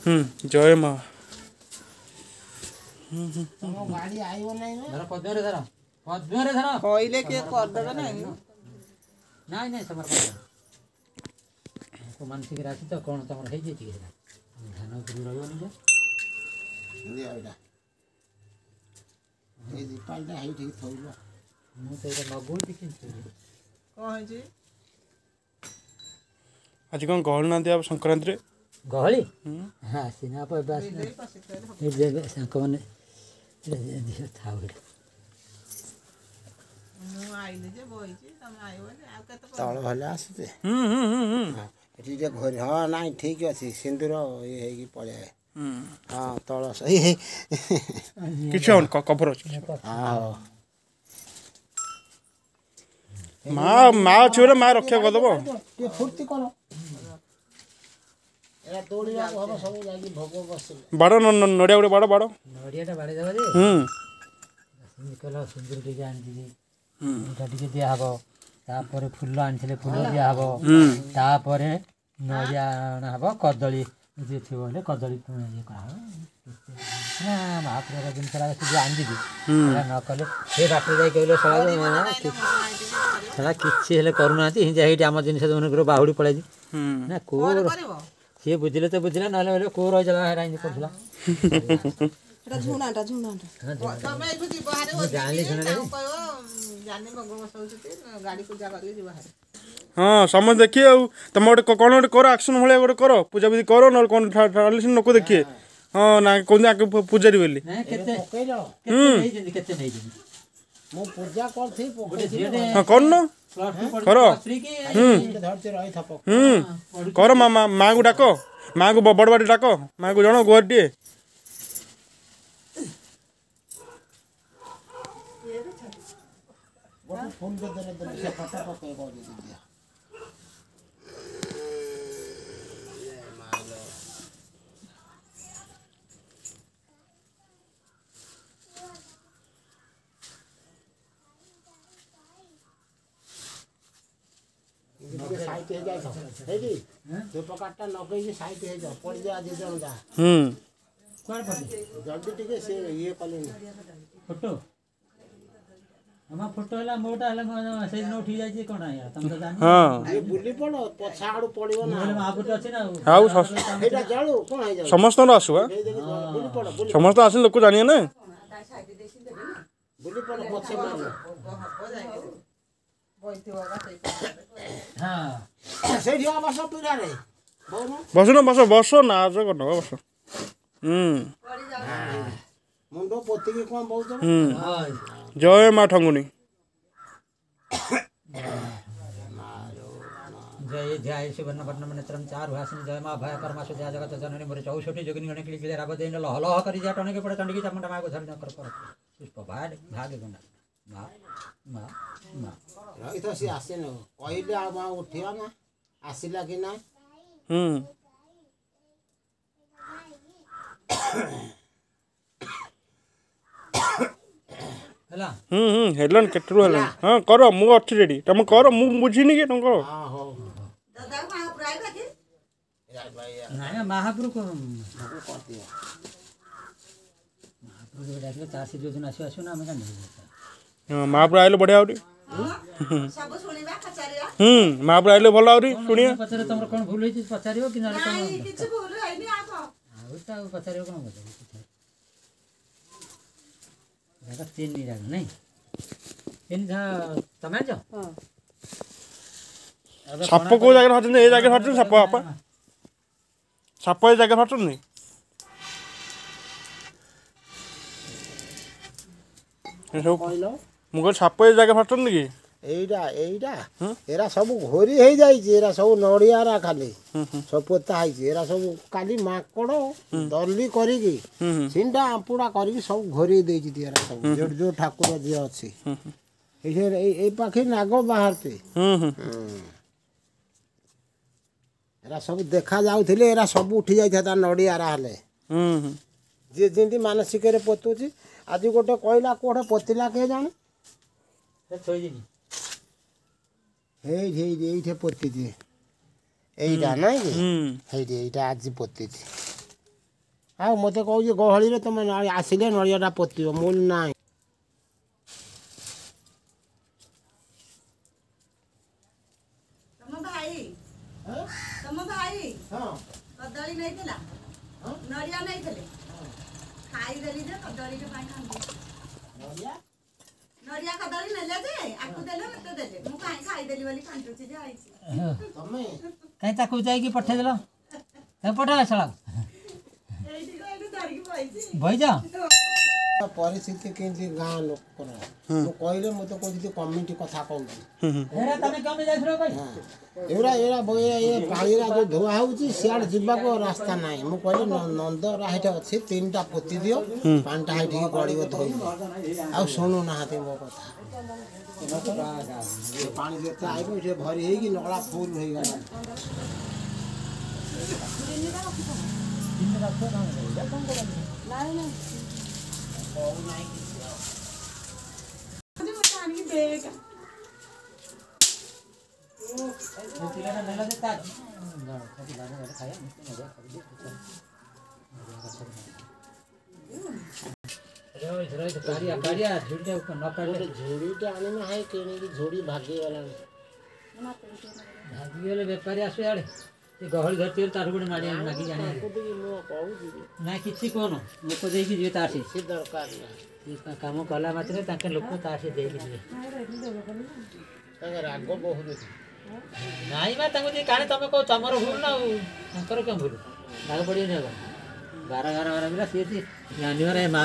ହୁଁ ଜୟ ମା। ଗାଡି ଆଇବ ନାଇଁ ନା? ଧର ପଦ୍ମରେ ଧର, ପଦ୍ମରେ ଧର। କହିଲେ କିଏ କରିଦେବେ ନାଇଁ? ନାଇଁ ନାଇଁ, ତମର ମାନସିକ ରାଶି ତ କ'ଣ ତମର ହେଇଯାଇଛି କି? ସେଟା ଧାନ ଉପରେ ରହିବନି ଯେ। ଦିଅ ଏଇଟା, ଏଇ ଦୀପାଳିଟା ହେଇଠିକି ଥୋଇବ। ମୁଁ ତ ଏଇଟା ଲଗଉଛି କିନ୍ତୁ କ'ଣ ହେଇଛି ଆଜି? କ'ଣ ଗହଳି ନାହାନ୍ତି ଆଉ ସଂକ୍ରାନ୍ତିରେ? ଗହଳି ହଁ, ଆସିନା ଏବେ, ଆସିନା ସାଙ୍ଗମାନେ ଥାଉ ଏଇଟା। ମୁଁ ଆଇଲି ଯେ ବଇଛି, ତମେ ଆଇବନି ଆଉ କେତେ? ତଳ ଭଲ ଆସୁଛି। ହୁଁ ହୁଁ ହୁଁ ହୁଁ ଏଠି ଟିକେ ଘୋରି। ହଁ, ନାଇଁ, ଠିକ ଅଛି। ସିନ୍ଦୁର ଇଏ ହେଇକି ପଳେଇ। ହଁ, ତଳ ସେଇ କିଛି ହବନି, କଭର ଅଛି। ହଁ, ହଉ। ମା, ମା ଅଛି ବୋଲେ ମା ରକ୍ଷା କରିଦବ। ଟିକେ ଫୁର୍ତ୍ତି କର, ଏରା ଦୌଡ଼ିବାକୁ ହବ ସବୁ ଯାଇକି ଭୋଗ ବସିଲେ। ବାଡ଼ ନଡ଼ିଆ ଗୋଟେ ବାଡ଼ ବାଡ଼। ନଡ଼ିଆଟା ବାଡ଼େଇ ଦେବା ଯେ। ସେମିତି କହିଲ, ସିନ୍ଦୁର ଟିକେ ଆଣିଥିଲି, ଏଇଟା ଟିକେ ଦିଆହବ। ତାପରେ ଫୁଲ ଆଣିଥିଲେ, ଫୁଲ ଦିଆହବ। ତାପରେ ନଡ଼ିଆ ଅଣା ହବ, କଦଳୀ ଯିଏ ଥିବ ହେଲେ କଦଳୀ ଇଏ କରାହବ ନା। ମହାପ୍ରଭୁଙ୍କ ଜିନିଷଟା ସେ ଯିଏ ଆଣିଛି, ସେଟା ନ କଲେ ସେ ବାଟରେ ଯାଇ କହିଲେ ଶଳା ଶଳା କିଛି ହେଲେ କରୁନାହାନ୍ତି। ହିଁ ଯାଇକି ଆମ ଜିନିଷ ଯୋଉମାନଙ୍କର ବାହୁଡ଼ି ପଳେଇଛି ନା କୋଉ ସିଏ ବୁଝିଲେ ତ ବୁଝିଲା, ନହେଲେ ହେଲେ କୋଉ ରହିଥିଲା ହେରା ଏମିତି କରୁଥିଲା। ସେଟା ଝୁଣାଟା, ଝୁଣାଟା। ତମେ ଏଇଠୁ ଯିବ ହାରି, ଜାଣିଲି ଝୁଣା। ତାଙ୍କୁ କହିବ ଜାନି ଭୋଗ ବସଉଛନ୍ତି, ଗାଡ଼ି ପୂଜା କରିକି ଯିବ ହାରି। ହଁ, ସମସ୍ତେ ଦେଖିବେ। ଆଉ ତମେ ଗୋଟେ କ'ଣ ଗୋଟେ କର, ଆକ୍ସନ୍ ଭଳିଆ ଗୋଟେ କର, ପୂଜା ବିଧି କର, ନହେଲେ କ'ଣ ଲୋକ ଦେଖିବେ। ହଁ ନା, କହୁଛନ୍ତି ଆଗ ପୂଜାରୀ ବୋଲି। କେତେ ପକେଇଲ? ନେଇଛନ୍ତି, କେତେ ନେଇଛନ୍ତି? ମୁଁ ପୂଜା କରିଥିଲି, ପକେଇଥିଲି। ହଁ, କରୁନ, କର। ହୁଁ ଧରିଛି, ରହିଥା। ହୁଁ କର। ମା, ମାଆଙ୍କୁ ଡାକ, ମାଆଙ୍କୁ ବଡ଼ ବାଟି ଡାକ, ମାଆଙ୍କୁ ଜଣ ଗୁହାରି ଟିକେ। ଗୋଟେ ଫୁଲ ଦେଲେ ଦେଲେ ସେ ଫଟୋ ପକେଇବ ଯଦି ଦିଅ। ଟିକେ ସାଇଟ୍ ହେଇଯାଇଥାଅ ହେଇଠି, ଧୂପକାଠଟା ଲଗେଇକି ସାଇଟ୍ ହେଇଯାଅ, ପଡ଼ିଯା ଦି ଜଣ ଯା। କୁଆଡ଼େ ପଡ଼ିଲେ? ଜଲ୍ଦି ଟିକେ, ସେ ଇଏ କଲେଣି। ଫଟୋ ଆମ ଫଟୋ ହେଲା, ମୋଟା ହେଲା, ସେଇଦିନ ଉଠି ଯାଇଛି କ'ଣ ଆଜ୍ଞା? ତମେ ତ ଜାଣିନ। ହଁ, ଇଏ ବୁଲି ପଡ଼, ପଛ ଆଡୁ ପଡ଼ିବ ନା। ମହାପୁରୁଷ ଅଛି ନା। ଆଉ ସେଇଟା ଜଳୁ, କ'ଣ ହେଇଯାଉଛି? ସମସ୍ତଙ୍କର ଆସୁ। ବୁଲି ପଡ଼, ବୁଲି। ସମସ୍ତେ ଆସିଲେ ଲୋକ ଜାଣିବେ ନା। ବୁଲି ପଡ଼, ପଛେ ମାରିବ। ହବ ଯାଇକି ବଇଥିବ ବା ସେଇ। ହଁ, ସେଇଠି ବସ ପିଢ଼ାରେ। ବସୁନ, ବସ ବସ, ନାଚ କରିନ, ବସ। ହୁଁ ମୁଣ୍ଡ ପୋତିକି କ'ଣ ବହୁଛ? ହୁଁ ଜୟ ମା ଠଙ୍ଗୁଣି। ଜୟ ଧ୍ୟାୟ ସୁବର୍ଣ୍ଣ ବର୍ଣ୍ଣ ନେତ୍ରମ ଚାରୁ ହାସିନି, ଜୟ ମା ଭୟ କର୍ମାସୁ, ଜୟ ଜଗତ ଜନନୀ ମୋର 64 ଯୋଗିନୀ ଗଣେ କିଳି କିଳି ରାବ ଦେଇ ଲହ ଲହ କରି ଯା ଟଣିକି ପଡ଼େ ଚଣ୍ଡିକି ଚାମୁଣ୍ଡା ମାକୁ ଧରି କର କର ପୁଷ୍ପ ଭାଗ ଭାଗ ଗୁଣ୍ଡା ମା ମା ମା। ରହିଥ, ସିଏ ଆସିନି। କହିଲେ ଆଉ ମା ଉଠିବ ନା, ଆସିଲା କି ନା? ହୁଁ ହେଲା। ହୁଁ ହୁଁ ହେଲାଣି, କେତେରୁ ହେଲାଣି। ହଁ, କର, ମୁଁ ଅଛି ରେଡ଼ି। ତମେ କର, ମୁଁ ବୁଝିନି କି, ତମେ କର। ହଁ, ହଉ। ନାଇଁ, ମହାପ୍ରଭୁ ଭୋଗ କରିଦିଅ। ମହାପ୍ରଭୁ ଯେବେ ଡାକିଲେ ତାର ସେ ଯୋଉଦିନ ଆସିବ ଆସିବ ନା, ଆମେ କାହିଁ? ହଁ, ମହାପ୍ରଭୁ ଆଇଲେ ବଢ଼ିଆ ଆହୁରି। ସବୁ ଶୁଣିବା, ପଚାରିବା। ହୁଁ ମହାପ୍ରଭୁ ଆଇଲେ ଭଲ ଆହୁରି ଶୁଣିବା। ପଚାରିବ, ତମର କ'ଣ ଭୁଲ ହେଇଛି ପଚାରିବ କି ନହେଲେ କ'ଣ? ନାଇଁ, କିଛି ଭୁଲ ହେଇନି। ଆଉ କ'ଣ? ଆଉ ତ ଆଉ ପଚାରିବ କ'ଣ? ପଚାରିବ ରାଗ, ତିନି ରାଗ ନାଇଁ, ତିନି ତମେ ଆଣିଛ। ସାପ କୋଉ ଜାଗାରେ ବାହାରୁଛନ୍ତି? ଏ ଜାଗାରେ ବାହାରୁଛନ୍ତି ସାପ ବାପା, ସାପ ଏ ଜାଗାରେ ବାହାରୁଛନ୍ତି ସବୁ। କହିଲ, ମୁଁ କହିଲି ସାପ ଏ ଜାଗାରେ ବାହାରୁଛନ୍ତି କି? ଏଇଟା ଏଇଟା ଏରା ସବୁ ଘୋରି ହେଇଯାଇଛି, ଏରା ସବୁ ନଡ଼ିଆରା ଖାଲି ସବୁ ପୋତା ହେଇଛି। ଏରା ସବୁ କାଲି ମାଙ୍କଡ଼ ଦଲି କରିକି ଛିଣ୍ଡା ଆମ୍ପୁଡ଼ା କରିକି ସବୁ ଘୋରି ଦେଇଛି। ଏରା ସବୁ ଯୋଉ ଯୋଉ ଠାକୁର ଯିଏ ଅଛି ଏଇ ଏଇ ପାଖେ ନାଗ ବାହାରୁଛି। ହୁଁ ହୁଁ ଏରା ସବୁ ଦେଖା ଯାଉଥିଲେ, ଏରା ସବୁ ଉଠି ଯାଇଥାନ୍ତା ନଡ଼ିଆରା ହେଲେ। ହୁଁ ହୁଁ ଯିଏ ଯେମିତି ମାନସିକରେ ପୋତୁଛି। ଆଜି ଗୋଟେ କହିଲା, କୋଉଠି ପୋତିଲା କିଏ ଜାଣେ? ଥୋଇଦେବି। ଏଇଠି ଏଇଠି ଏଇଠି ପୋତିଛି। ଏଇଟା ନାଇଁ କି ହେଇଠି ଏଇଟା ଆଜି ପୋତିଛି। ଆଉ ମୋତେ କହୁଛି ଗହଳିରେ ତମେ ଆସିଲେ ନଡ଼ିଆଟା ପୋତିବ। ମୁଁ ନାଇଁ। ତମ ଭାଇ, ତମ ଭାଇ କଦଳୀ ନେଇଥିଲା, ନଡ଼ିଆ ନେଇଥିଲେ, ଖାଇଦେଲି ଯେ କଦଳୀରେ ପାଇଁ ଖାଆନ୍ତି। ନଡ଼ିଆ କଦଳୀ ନେଲେ ଯେ ଆକୁ ଦେଲେ, ମତେ ଦେଲେ, ମୁଁ କାହିଁ ଖାଇଦେଲି ବୋଲି କାନ୍ଦୁଛି ଯେ ଆଇଛି। ତମେ କାହିଁ ତାକୁ ଯାଇକି ପଠେଇଦେଲ? ତାକୁ ପଠାଅ ଶଳାକୁ। ଏଇଠି ଏଇଠି ଧରିକି ବଇଛି। ବଇଛ। ପରିସ୍ଥିତି କେମିତି ଗାଁ ଲୋକର ମୁଁ କହିଲେ ମୋତେ କହୁଛି କମିଟି କଥା କହୁଛି। ଏରା ତମେ କେମିତି ଯାଇଥିଲ ଭାଇ? ଏଗୁଡ଼ା ଏରା ଏ ପାଣିରା ଯୋଉ ଧୁଆ ହଉଛି ସିଆଡ଼େ ଯିବାକୁ ରାସ୍ତା ନାହିଁ। ମୁଁ କହିଲି ନନ୍ଦରା ହେଇଠି ଅଛି, 3ଟା ପୋତି ଦିଅ, ପାଣିଟା ହେଇଠିକି ଗଡ଼ିବ ଧୋଇଲେ। ଆଉ ଶୁଣୁନାହାନ୍ତି ମୋ କଥା। ପାଣି ଯେତେ ଆଇବ ଏଠି ଭରି ହେଇକି ନଳା ଫୁଲ ହେଇଗଲା। ଆଣିକି ଦେଖ। ପିଲାଟା ନେଲା ଯେ ତା କାଢିଆ କାଢିଆ ଝୁଡ଼ିଟା ନ କାଢିଲେ। ଝୁଡ଼ିଟା ଆଣିନା ହେଇ କିଣିକି, ଝୁଡ଼ି ଭାଗିଗଲାଣି। ଭାଗିଗଲେ ବେପାରୀ ଆସୁ ଇଆଡ଼େ, ସେ ଗହଳି ଧରିଛି ତାଠୁ ଗୋଟେ ମାଡ଼ି ମାଗିକି ଆଣିବେ। ମୁଁ କହୁଛି। ନାଇଁ, କିଛି କହୁନ, ଲୋକ ଦେଇକି ଯିବେ ତାଠି। କିଛି ଦରକାର ନାହିଁ। କାମ କଲା ମାତ୍ରେ ତାଙ୍କ ଲୋକ ତାଠି ଦେଇକି ଯିବେ। ତାଙ୍କ ରାଗ ବହୁତ। ନାଇଁ ବା, ତାଙ୍କୁ ଟିକେ କାଣେ ତମେ କହୁ ତମର ଭୁଲ ନା ଆଉ ତାଙ୍କର କେଉଁ ଭୁଲ? ରାଗ ପଡ଼ିବନି ଆଉ 12 12 12 ପିଲା ସିଏ ଜାଣିବାର ମା।